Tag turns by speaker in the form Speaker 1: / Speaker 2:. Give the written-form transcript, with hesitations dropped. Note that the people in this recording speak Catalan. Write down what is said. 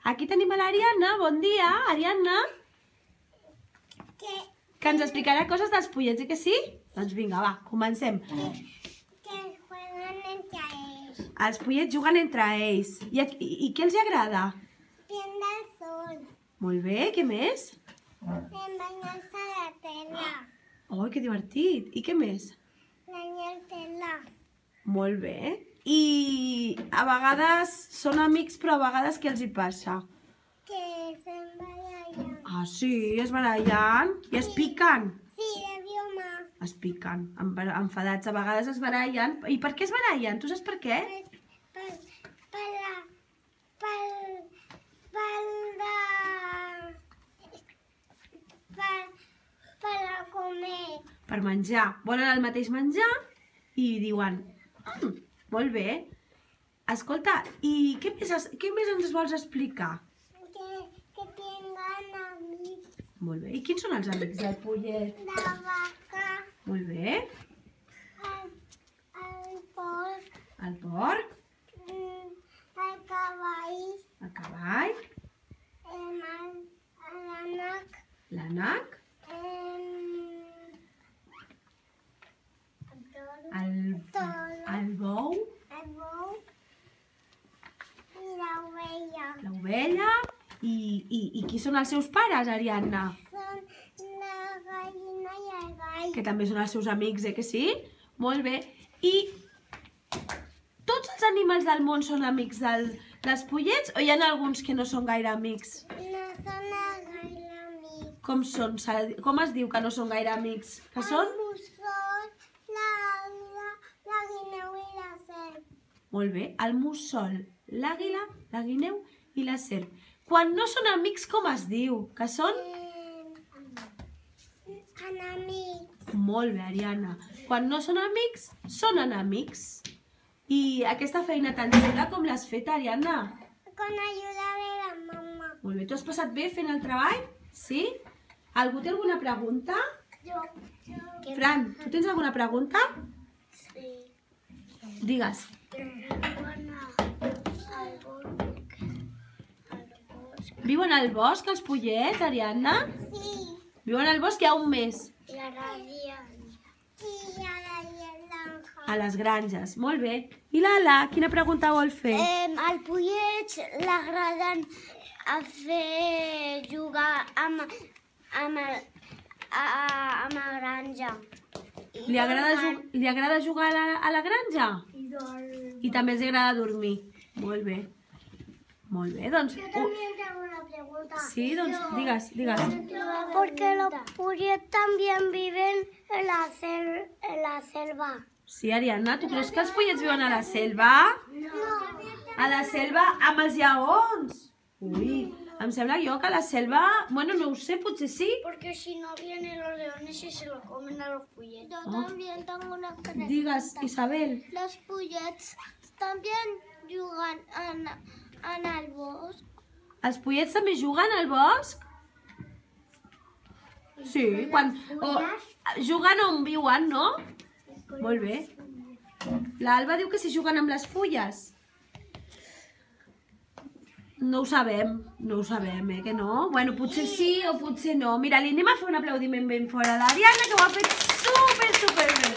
Speaker 1: Aquí tenim a l'Ariadna. Bon dia, Ariadna. Que ens explicarà coses dels pollets, que sí? Doncs vinga, va, comencem.
Speaker 2: Que jueguen entre ells.
Speaker 1: Els pollets juguen entre ells. I què els agrada?
Speaker 2: Prendre el sol.
Speaker 1: Molt bé, què més?
Speaker 2: Banyar-se a la tela.
Speaker 1: Oh, que divertit. I què més?
Speaker 2: Banyar tela.
Speaker 1: Molt bé. I a vegades són amics, però a vegades què els hi passa?
Speaker 2: Que se'n barallen.
Speaker 1: Ah, sí, es barallen i es piquen.
Speaker 2: Sí, de broma.
Speaker 1: Es piquen, enfadats. A vegades es barallen. I per què es barallen? Tu saps per què?
Speaker 2: Per a comer.
Speaker 1: Per menjar. Volen el mateix menjar i diuen... molt bé. Escolta, i què més ens vols explicar?
Speaker 2: Que tinguen amics.
Speaker 1: Molt bé. I quins són els amics del pollet?
Speaker 2: La vaca.
Speaker 1: Molt bé.
Speaker 2: El porc.
Speaker 1: El porc.
Speaker 2: El cavall.
Speaker 1: El cavall.
Speaker 2: L'ànec.
Speaker 1: L'ànec. El bou.
Speaker 2: El bou. I l'ovella.
Speaker 1: L'ovella. I qui són els seus pares, Ariadna?
Speaker 2: Són la gallina i el gall.
Speaker 1: Que també són els seus amics, que sí? Molt bé. I tots els animals del món són amics dels pollets o hi ha alguns que no són gaire amics?
Speaker 2: No són gaire amics.
Speaker 1: Com són? Com es diu que no són gaire amics? Que són?
Speaker 2: El mussol, l'àguila, la guineu i la serp.
Speaker 1: Molt bé. El mussol, l'àguila, la guineu i la serp. Quan no són amics, com es diu? Que són?
Speaker 2: Enemics.
Speaker 1: Molt bé, Ariadna. Quan no són amics, són enemics. I aquesta feina tan xula com l'has fet, Ariadna?
Speaker 2: Con ayuda de la mamá.
Speaker 1: Molt bé. Tu has passat bé fent el treball? Sí? Algú té alguna pregunta?
Speaker 2: Jo.
Speaker 1: Fran, tu tens alguna pregunta?
Speaker 2: Sí.
Speaker 1: Digues. Viuen al bosc els pollets, Ariadna?
Speaker 2: Sí.
Speaker 1: Viuen al bosc ja un mes.
Speaker 2: I ara sí, i ara l'anja.
Speaker 1: A les granges. Molt bé. I l'Ala, quina pregunta vol fer?
Speaker 2: Al pollet l'agraden a fer jugar amb la granja.
Speaker 1: Li agrada jugar a la granja? I també els agrada dormir. Molt bé. Molt bé, doncs...
Speaker 2: Yo también tengo una pregunta.
Speaker 1: Sí, doncs digues.
Speaker 2: Porque los polletes también viven en la selva.
Speaker 1: Sí, Ariadna, tu creus que els pollets viuen a la selva?
Speaker 2: No.
Speaker 1: A la selva amb els lleons? Ui, em sembla jo que a la selva... Bueno, no ho sé, potser sí.
Speaker 2: Porque si no vienen los leones y se lo comen a los polletes. Yo también tengo una pregunta.
Speaker 1: Digues, Isabel.
Speaker 2: Los pollets también jugan en el bosc.
Speaker 1: Els pollets també juguen al bosc? Sí, quan... Juguen on viuen, no? Molt bé. L'Alba diu que si juguen amb les fulles. No ho sabem, que no? Bueno, potser sí o potser no. Mira, li anem a fer un aplaudiment ben fort a l'Ariadna, que ho ha fet super bé.